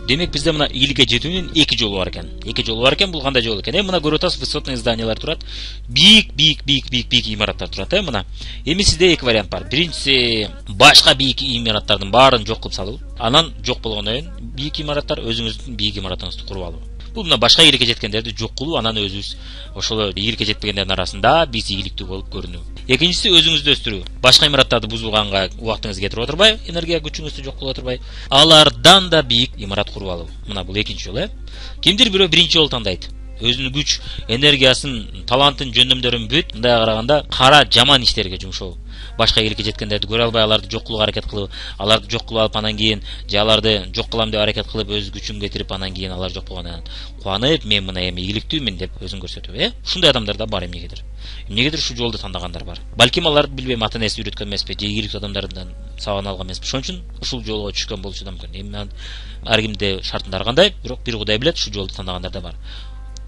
Демек бизде мына ийгиликке жетүүнүн эки жолу бар экен. Бул кандай жол экен? Мына көрүп атасыз, высотный зданиялар турат. Бийик имараттар турат, мына. Эми сизде эки вариант бар. Биринчиси башка бийик имараттардын баарын жок кылып салуу. Анан жок болгондон кийин бийик имараттар өзүңүздүн бийик имаратыңызды куруп алуу. Бул мына башка ийгиликке жеткендерди жок кылуу, анан өзүбүз ошол ийгиликке жетпегендердин арасында биз ийгиликтүү болуп көрүнүү. Экинчиси өзүңүздү өстүрүү. Башка имараттарды бузулганга убактыңыз кетирип отурбай, энергия күчүңүздү жок кылып отурбай, алардан да бийик имарат куруп алуу. Мына бул экинчи жол, Кимдир бирөө биринчи жолду тандайт. Өзүнүн күч, энергиясын, талантын, жөндөмдөрүн бүт, мындай караганда кара жаман иштерге жумшоо. Башка ийгиликке жеткендерди көрө албай, аларды жок кылууга аракет кылып, аларды жок кылып алып анан кийин же аларды жок кылам деп аракет кылып өз күчүн кетирип анан кийин алар жок болгондон кубанып, мен мына эми ийгиликтүүмүн деп өзүн көрсөтүү, Ушундай адамдар да бар эмнегедир. Эмнегедир ушул жолду тандагандар бар. Балким алар билбейм, ата энеси үйрөткөн эмеспи, же ийгиликтүү адамдардан сабак алган эмеспи. Ошон үчүн ушул жолго түшкөн болушу да мүмкүн. Эми ар кимде шартында ар кандай, бирок бир Кудай билет, ушул жолду тандагандар да бар.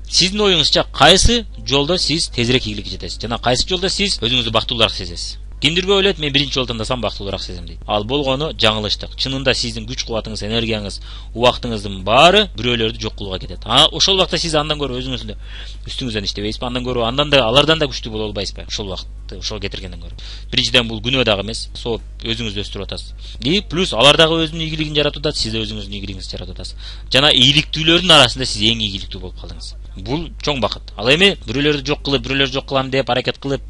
Сиздин оюңузча кайсы жолдо сиз тезирээк ийгиликке жетесиз жана кайсы жолдо сиз өзүңүздү бактылуураак сезесиз? Кимдир ойлойт, мен биринчи жолду тандасам бактылуураак сезем дейт. Ал болгону жаңылыштык. Чынында сиздин күч кубатыңыз, энергияңыз, убактыңыздын баары бирөөлөрдү жок кылууга кетет. Ошол убакта сиз андан көрө өзүңүздү үстүңүздөн иштебейсизби? Андан көрө алардан да күчтүү боло албайсызбы? Ошол убакытты ошол кетиргенден көрө. Биринчиден бул күнөө дагы эмес, сооп өзүңүздү өстүрүп атасыз. Плюс алар дагы өзүнүн ийгилигин жаратып атат, сиз да өзүңүздүн ийгилигиңизди жаратып атасыз. Жана ийгиликтүүлөрдүн арасында сиз эң ийгиликтүү болуп калдыңыз. Бул чоң бакыт. Ал эми бирөөлөрдү жок кылып, бирөөлөр жок кылам деп аракет кылып,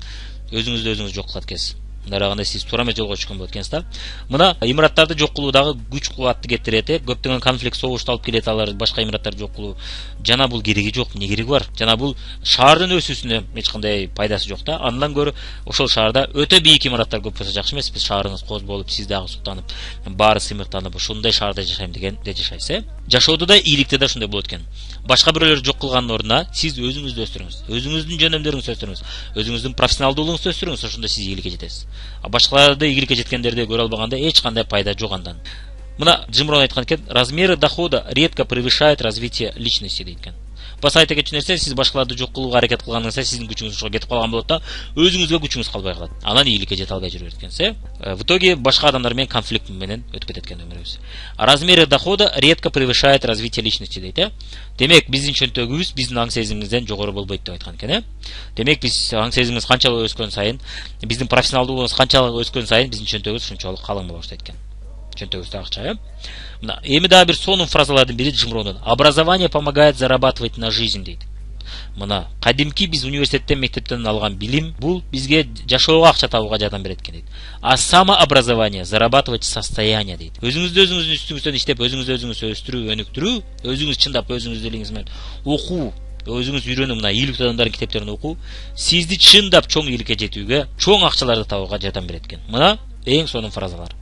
өзүңүздү өзүңүз жок кылат экенсиз. Мындай сиз туура эмес жолго түшкөн болот экенсиз да. Мына имараттарды жок кылуу дагы күч кубатты кетирет, көптөгөн конфликт, согушту алып келет, алар башка имараттарды жок кылуу. Жана бул кереги жок, эмне кереги бар? Жана бул шаардын өсүүсүнө эч кандай пайдасы жок да. Андан көрө ошол шаарда өтө бийик имараттар көп болсо жакшы эмеспи? Шаарыңыз коз болуп, сиз дагы суктанып, баары сыймыктанып, ошондой шаарда жашайм дегенде жашайсыз, Жашоодо да ийгиликте да ушундай болот экен. Башка бирөөлөр жок кылгандын ордуна сиз өзүңүздү өстүрүңүз, өзүңүздүн жөндөмдөрүңүздү өстүрүңүз, өзүңүздүн профессионалдуулугуңузду өстүрүңүз, ошондо сиз ийгиликке жетесиз. Башкаларды ийгиликке жеткендерди көрө албаганда эч кандай пайда жок андан. Мына Джим Рон айткан экен, размеры дохода редко превышает развитие личности дейт экен. Баса айта кетчү нерсе, сиз башкаларды жок кылууга аракет кылганыңызда сиздин күчүңүз ошого кетип калган болот да, өзүңүзгө күчүңүз калбай калат. Анан ийгиликке жете албай жүрөт экенсиз. В итоге башка адамдар менен конфликт менен өтүп кетет экен өмүрүбүз. Размеры дохода редко превышает развитие личности дейт, Демек биздин чөнтөгүбүз биздин аң сезимибизден жогору болбойт деп айткан экен, Демек биз аң сезимибиз канчалык өскөн сайын, биздин профессионалдуулугубуз канчалык өскөн сайын биздин чөнтөгүбүз ушунчалык калың боло баштайт экен. Чөнтөгүбүздө акча, Мына эми дагы бир сонун фразалардын бири Джим Ронун. Образование помогает зарабатывать на жизнь дейт. Мына кадимки биз университеттен, мектептен алган билим бул бизге жашоого акча табууга жардам берет экен дейт. А самообразование зарабатывать состояние дейт. Өзүңүздү өзүңүздүн үстүңүздөн иштеп, өзүңүздү өзүңүз өстүрүү, өнүктүрүү, өзүңүз чындап өзүңүздүн элиңиз менен окуу, өзүңүз үйрөнүү, мына ийгиликтүү адамдардын китептерин окуу, сизди чындап чоң ийгиликке жетүүгө, чоң акчаларды табууга жардам берет экен. Мына эң сонун фразалар.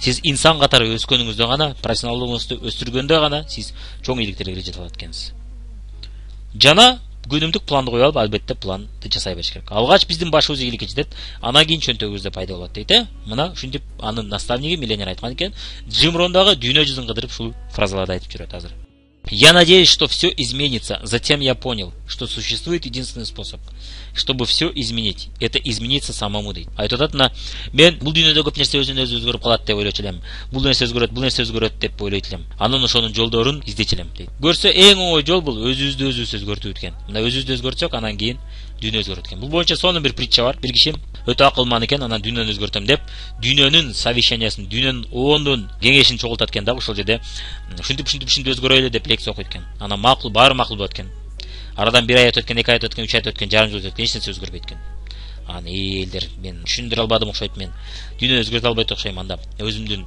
Сиз инсан катары өскөнүңүздө гана, профессионалдуулугуңузду өстүргөндө гана сиз чоң ийгиликтерге жете алат экенсиз. Жана күнүмдүк планды коюп алып, албетте планды жасай бериш керек. Алгач биздин башыбыз ийгиликке жетет, анан кийин чөнтөгүбүздө пайда болот дейт, Мына ушинтип анын наставниги миллионер айткан экен. Джим Рон дагы дүйнө жүзүн кыдырып ушул фразаларды айтып жүрөт азыр. Я надеюсь, что все изменится. Затем я понял, что существует единственный способ, чтобы все изменить. Это измениться самому дейт. Айтып атат, мына мен бул дүйнөдө көп нерсе өзүнөн өзү өзгөрүп калат деп ойлочу элем. Бул нерсе өзгөрөт деп ойлойт элем. Анан ошонун жолдорун издечи элем дейт. Көрсө эң оңой жол бул өзүбүздү өзүбүз өзгөртүү экен. Мына өзүбүздү өзгөртсөк, анан кийин дүйнө өзгөрөт экен. Бул боюнча сонун бир притча бар. Бир киши өтө акылман экен, анан дүйнөнү өзгөртөм деп, дүйнөнүн совещаниясын, дүйнөнүн оондун кеңешин чогултат экен да, ошол жерде ушинтип өзгөрөйлү деп лекция окуйт экен. Анан макул, баары макул болот экен. Арадан 1 ай өтөт экен, 2 ай өтөт экен, 3 ай өтөт экен, жарым жыл өтөт экен, эч нерсе өзгөрбөйт экен. Аны элдер мен түшүндүрө албадым окшойт, мен дүйнөнү өзгөртө албайт окшойм, анда өзүмдүн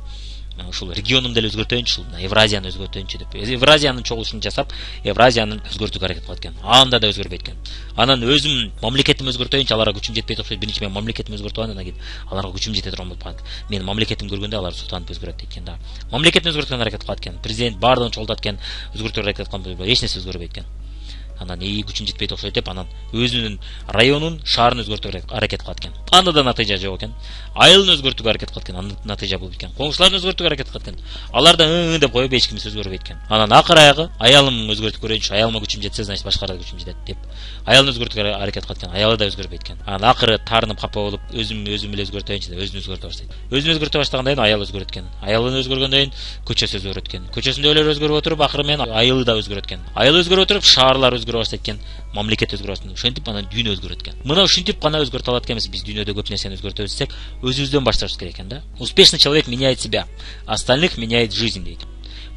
ушул регионумду эле өзгөртөйүнчү, Евразияны өзгөртөйүнчү деп. Евразиянын чогулушун жасап, Евразиянын өзгөртүүгө аракет кылат экен. Анда да өзгөрбөйт экен. Анан өзүм мамлекетимди өзгөртөйүнчү, аларга күчүм жетпейт окшойт. Биринчи мен мамлекетимди өзгөртүп алам, андан кийин аларга күчүм жете турган болуп калат. Мен мамлекетимди көргөндө алар суктанып өзгөрөт дейт экен да. Мамлекетти өзгөрткөнгө аракет кылат экен. Президент баардыгын чогултат экен, өзгөртүүгө аракет кылган болуп, эч нерсе өзгөрбөйт экен. анан күчүм жетпейт окшойт деп анан өзүнүн районун, шаарын өзгөртүүгө аракет кылат экен. Анда да натыйжа жок экен. Айылын өзгөртүүгө аракет кылат экен, анда натыйжа болбойт экен. Коңшуларын өзгөртүүгө аракет кылат экен. Алар да деп коюп эч кимиси өзгөрбөйт экен. Анан акыр аягы аялым өзгөртүп көрөйүнчү, аялыма күчүм жетсе, значит башкаларга күчүм жетет деп аялын өзгөртүүгө аракет кылат экен. Аялы да өзгөрбөйт экен. Анан акыры таарынып капа болуп, өзүм эле өзгөртөйүнчү деп өзүн өзгөртө баштайт. Өзүн өзгөртө баштагандан кийин аял өзгөрөт экен. Аялын өзгөргөндөн кийин көчөсү өзгөрөт экен. Көчөсүндөгүлөр өзгөрүп отуруп, акыры менен айылы да өзгөрөт экен. Айыл өзгөрүп отуруп, шаарлар өзгөрө баштайт экен. Мамлекет өзгөрө баштайт. Ошентип анан дүйнө өзгөрөт экен. Мына ушинтип гана өзгөртө алат экенбиз. Биз дүйнөдө көп нерсени өзгөртөбүз десек, өзүбүздөн башташыбыз керек экен да. Успешный человек меняет себя, остальных меняет жизнь дейт.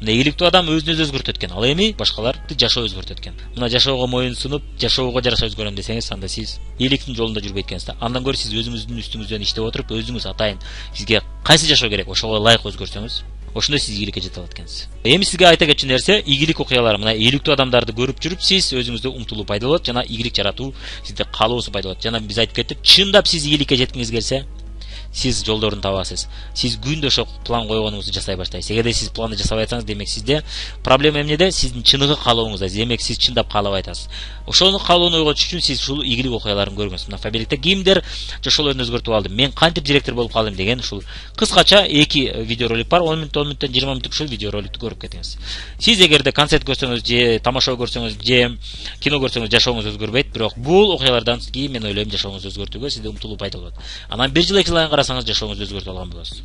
Мына ийгиликтүү адам өзүн өзү өзгөртөт экен. Ал эми башкаларды жашоо өзгөртөт экен. Мына жашоого моюн сунуп, жашоого жараша өзгөрөм десеңиз, анда сиз ийгиликтин жолунда жүрбөйт экенсиз да. Андан көрө сиз өзүңүздүн үстүңүздөн иштеп отуруп, өзүңүз атайын сизге кайсы жашоо керек, ошого ылайык өзгөрсөңүз, ошондо сиз ийгиликке жете алат экенсиз. Эми сизге айта кетчү нерсе, ийгилик окуялар. Мына ийгиликтүү адамдарды көрүп жүрүп, сиз өзүңүздө умтулуу пайда болот жана ийгилик жаратуу сизде каалоосу пайда болот. Жана биз айтып кеттик, чындап сиз ийгиликке жеткиңиз келсе, сиз жолдорун табасыз. Сиз күндө ошо план койгонуңузду жасай баштайсыз. Эгерде сиз планды жасабай атсаңыз, демек сизде проблема эмнеде? Сиздин чыныгы каалооңузда. Демек сиз чындап каалабай атасыз. Ошону каалоону ойготуш үчүн сиз ушул ийгилик окуяларын көрүңүз. Мына Фаберликте кимдер жашоолорун өзгөртүп алды, мен кантип директор болуп калдым деген ушул кыскача 2 видеоролик бар. 10 мүнөттөн 20 мүнөттүк ушул видеороликту көрүп кетиңиз. Сиз эгерде концерт көрсөңүз же тамаша көрсөңүз же кино көрсөңүз жашооңуз өзгөрбөйт, бирок бул окуялардан кийин мен ойлойм жашооңузду өзгөртүүгө сизде умтулуу пайда болот. Анан 1 жыл 2 жыл карасаңыз жашооңузду өзгөртүп алган болосуз.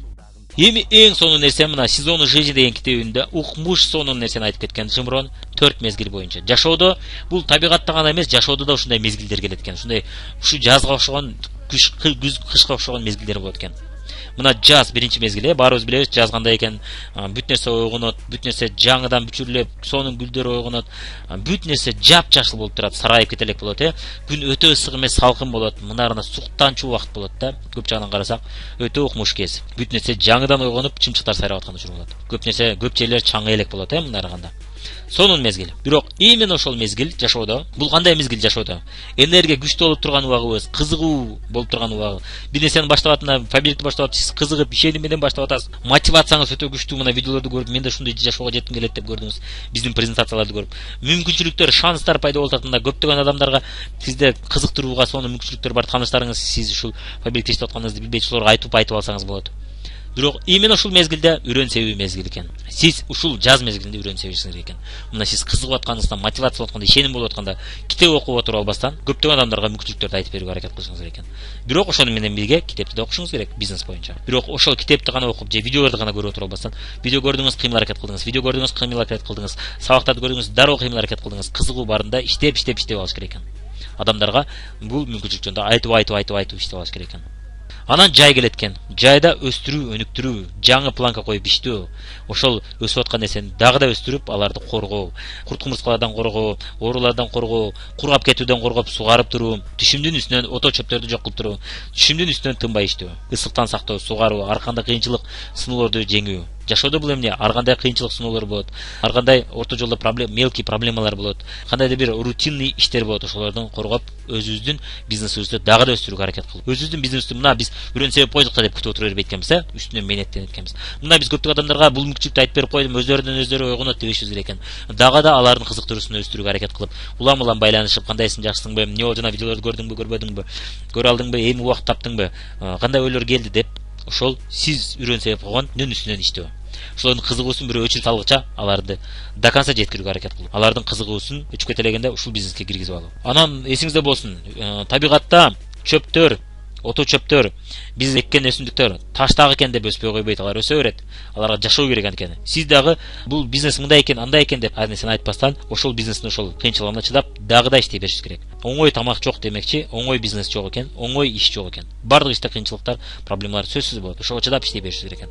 Эми эң сонун нерсе мына сезону жизни деген китебинде укмуш сонун нерсени айтып кеткен Жымрон 4 мезгил боюнча. Жашоодо бул табигатта гана эмес, жашоодо да ушундай мезгилдер келет экен. Ушундай ушу жазга окшогон, күз кышка окшогон мезгилдер болот экен. Мына жаз биринчи мезгил, баарыбыз билебиз, жаз кандай экен. Бүт нерсе ойгонот, бүт нерсе жаңыдан бүчүрлөп, сонун гүлдөр ойгонот, бүт нерсе жапжашыл болуп турат, сарайып кете элек болот, Күн өтө ысык эмес, салкын болот. Мынарына суктанчуу убакыт болот да. Көп жагынан карасак, өтө укмуш кез. Бүт нерсе жаңыдан ойгонуп, чымчыктар сайрап аткан учур болот. Көп нерсе, көп жерлер чаңы элек болот, мына караганда. Сонун мезгил. Бирок именно ошол мезгил жашоодо, бул кандай мезгил жашоодо? Энергия күчтүү болуп турган убагыбыз, кызыгуу болуп турган убагы. Бир нерсени баштап атына, Фаберликти баштап атып, сиз кызыгып, ишеним менен баштап атасыз. Мотивацияңыз өтө күчтүү. Мына видеолорду көрүп, мен да ушундай жашоого жетким келет деп көрдүңүз. Биздин презентацияларды көрүп, мүмкүнчүлүктөр, шанстар пайда болуп атат. Мына көптөгөн адамдарга сизде кызыктырууга сонун мүмкүнчүлүктөр бар. Таныштарыңыз сиз ушул Фаберликте иштеп атканыңызды билбейт, ошолорго айтып алсаңыз болот. Бирок именно ушул мезгилде үрөн себүү мезгил экен. Сиз ушул жаз мезгилинде үрөн себишиңиз керек экен. Мына сиз кызыгып атканыңыздан, мотивация болуп атканда, ишеним болуп атканда, китеп окуп отуруп албастан көптөгөн адамдарга мүмкүнчүлүктөрдү айтып берүүгө аракет кылышыңыз керек экен. Бирок ошону менен бирге китепти да окушуңуз керек, бизнес боюнча. Бирок ошол китепти гана окуп же видеолорду гана көрүп отуруп албастан, видео көрдүңүз, кыймыл аракет кылдыңыз, видео көрдүңүз, кыймыл аракет кылдыңыз, сабактарды көрдүңүз, дароо кыймыл аракет кылдыңыз, кызыгуу барында иштеп алыш керек экен. Адамдарга бул мүмкүнчүлүк жөнүндө айтып иштеп алыш керек экен. Анан жай келет экен. Жайда өстүрүү, өнүктүрүү, жаңы планка коюп иштөө, ошол өсүп аткан нерсени дагы да өстүрүп, аларды коргоо, курт кумурскалардан коргоо, оорулардан коргоо, кургап кетүүдөн коргоп сугарып туруу, түшүмдүн үстүнөн ото чөптөрдү жок кылып туруу, түшүмдүн үстүнөн тынбай иштөө, ысыктан сактоо, сугаруу, ар кандай кыйынчылык, сыноолорду жеңүү. Жашоодо бул эмне? Ар кандай кыйынчылык, сыноолор болот. Ар кандай орто жолдо мелкий проблемалар болот. Кандайдыр бир рутинный иштер болот. Ошолордон коргоп, өзүбүздүн бизнесибизди дагы да өстүрүүгө аракет кылып, өзүбүздүн бизнести мына биз үрөн себеп койдук да деп күтүп отура бербейт экенбиз, үстүнөн мээнеттенет экенбиз. Мына биз көптөгөн адамдарга бул мүмкүнчүлүктү айтып берип койдум, өзлөрүнөн өзлөрү ойгонот дебешибиз керек экен. Дагы да алардын кызыктыруусун өстүрүүгө аракет кылып, улам байланышып, кандайсың, жакшысыңбы, эмне болду, жана видеолорду көрдүңбү, көрбөдүңбү, көрө алдыңбы, эми убакыт таптыңбы, кандай ойлор келди деп, ошол сиз үрөн себеп койгондун үстүнөн иштөө. Ошолордун кызыгуусун бирөө өчүрүп салгыча аларды до конца жеткирүүгө аракет кылып, алардын кызыгуусун өчүп кете элегенде ушул бизнеске киргизип алуу. Анан эсиңизде болсун, табигатта чөптөр, ото чөптөр, биз эккен өсүмдүктөр таштагы экен деп өспөй койбойт, алар өсө берет. Аларга жашоо керек экен. Сиз дагы бул бизнес мындай экен, андай экен деп ар нерсени айтпастан, ошол бизнестин ошол кыйынчылыгына чыдап, дагы да иштей беришиз керек. Оңой тамак жок демекчи, оңой бизнес жок экен, оңой иш жок экен. Бардык иште кыйынчылыктар, проблемалар сөзсүз болот. Ошого чыдап иштей беришиз керек экен.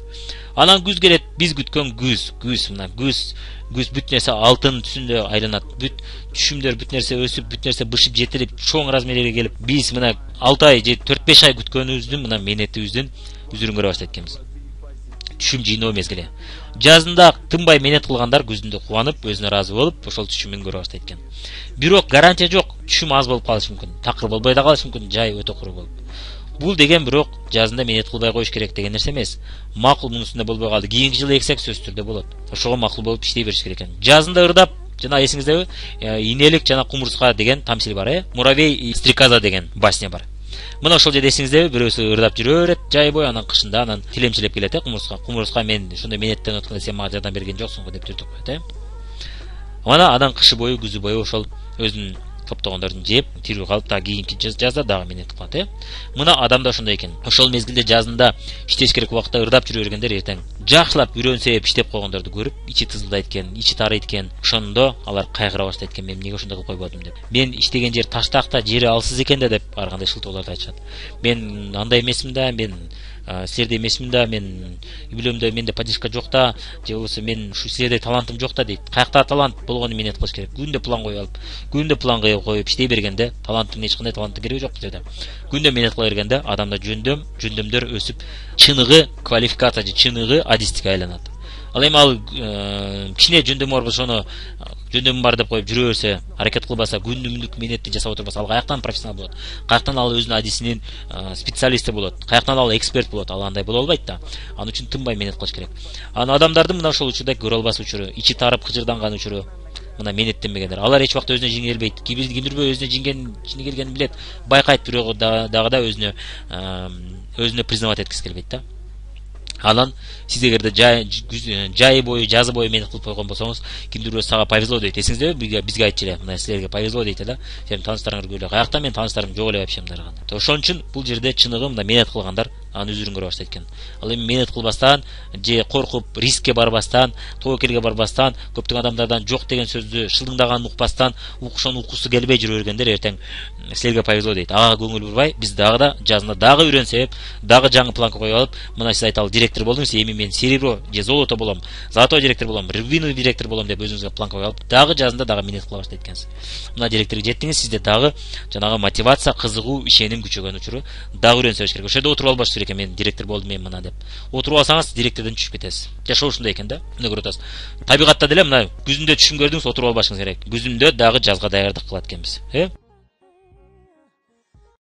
Анан күз келет, биз күткөн күз, мына күз бүт нерсе алтын түсүндө айланат. Бүт түшүмдөр, бүт нерсе өсүп, бүт нерсе бышып жетилип, чоң размерге келип, биз мына 6 ай же 4-5 ай күткөнүбүздүн мына мээнетибиздин үзүрүн көрө баштайт экенбиз. Түшүм жыйноо мезгили. Жазында тынбай мээнет кылгандар күзүндө кубанып, өзүнө ыраазы болуп, ошол түшүмүн көрө баштайт экен. Бирок гарантия жок, түшүм аз болуп калышы мүмкүн, такыр болбой да калышы мүмкүн, жай өтө куру болуп. Бул деген бирок жазында мээнет кылбай коюш керек деген нерсе эмес. Макул мунун үстүндө болбой калды, кийинки жылы эксек сөзсүз түрдө болот. Ошого макул болуп иштей бериш керек экен. Жазында ырдап, жана эсиңиздеби, инелик жана кумурска деген тамсил бар, муравей и стрекоза деген басня бар. Мына ошол жерде эсиңиздеби, бирөөсү ырдап жүрө берет жай бою, анан кышында анан тилемчилеп келет, кумурска мен ошондой менеттен өткөндө сен мага жардам берген жоксуң го деп түртүп коет. Мана анан кышы бою, күзү бою ошол өзүнүн топтогондорун жеп, тирүү калып, дагы кийинки жазда дагы менет кылат. Мына адамда ошондой экен. Ошол мезгилде жазында иштеш керек убакта ырдап жүрө бергендер эртең жакшылап үрөнсөп иштеп койгондорду көрүп, ичи тызылдайт экен, ичи тарыйт экен. Ошондо алар кайгыра баштайт экен, мен эмнеге ошондой кылып койбодум деп. Мен иштеген жер таштакта, жери алсыз экен да деп ар кандай шылтоолорду айтышат. Мен андай эмесмин да, мен силердей эмесмин да, мен үйлөмдө менде поддержка жок да, же болбосо мен ушу силердей талантым жок да дейт. Каякта талант болгону менет кылыш керек. Күндө план коюп алып, күндө план коюп иштей бергенде, таланттын эч кандай таланттын кереги жок жерде. Күндө менет кыла бергенде адамда жөндөмдөр өсүп, чыныгы квалификация же чыныгы адистикке айланат. Ал эми ал кичине жөндөмү бар болсо, ошону жөндөмү бар деп коюп жүрө берсе, аракет кылбаса, күндүмдүк менетти жасап отурбаса, ал каяктан профессионал болот? Каяктан ал өзүнүн адисинин специалисти болот? Каяктан ал эксперт болот? Ал андай боло албайт да. Ал үчүн тынбай менет кылыш керек. Анан адамдардын мына ошол учурда көрө албас учуру, ичи тарып кыжырданган учуру, мына менеттенбегендер. Алар эч убакта өзүнө жеңилбейт. Кимдирбей өзүнө жеңилгенин билет, байкайт, бирок дагы да өзүнө признавать эткиси келбейт да. Анан сиз эгерде жай бою, жазы бою менет кылып койгон болсоңуз, кимдир бирөө сага повезло дейт. Эсиңиздеби, бизге айтчу эле, мына силерге повезло дейт да. Сенин тааныштарыңар көп эле. Каякта менин тааныштарым жок эле вообще мындай. Ошон үчүн бул жерде чыныгы мына менет кылгандар анын өзүрүн көрө баштайт экен. Ал эми менет кылбастан же коркуп рискке барбастан, тобокелге барбастан, көптөгөн адамдардан жок деген сөздү шылдыңдаганын укпастан, ошону уккусу келбей жүрө бергендер эртең силерге повезло дейт. Ага көңүл бурбай, биз дагы да жазында дагы үйрөнсөп, дагы жаңы планка коюп алып, мына сиз айталы директор болдуңуз, эми мен серебро же золото болом, золотой директор болом, рубиновый директор болом деп өзүңүзгө планка коюп алып, дагы жазында дагы менет кыла баштайт экенсиз. Мына директорго жеттиңиз, сизде дагы жанагы мотивация, кызыгуу, ишеним күчөгөн учуру дагы үйрөнсөңүз керек. Ошол жерде отуруп албаш керек, мен директор болдум мен мына деп. Отуруп алсаңыз директордон түшүп кетесиз. Жашоо ушундай экен да. Мына көрүп атасыз. Табигатта деле мына күзүндө түшүм көрдүңүз, отуруп албашыңыз керек. Күзүндө дагы жазга даярдык кылат экенбиз.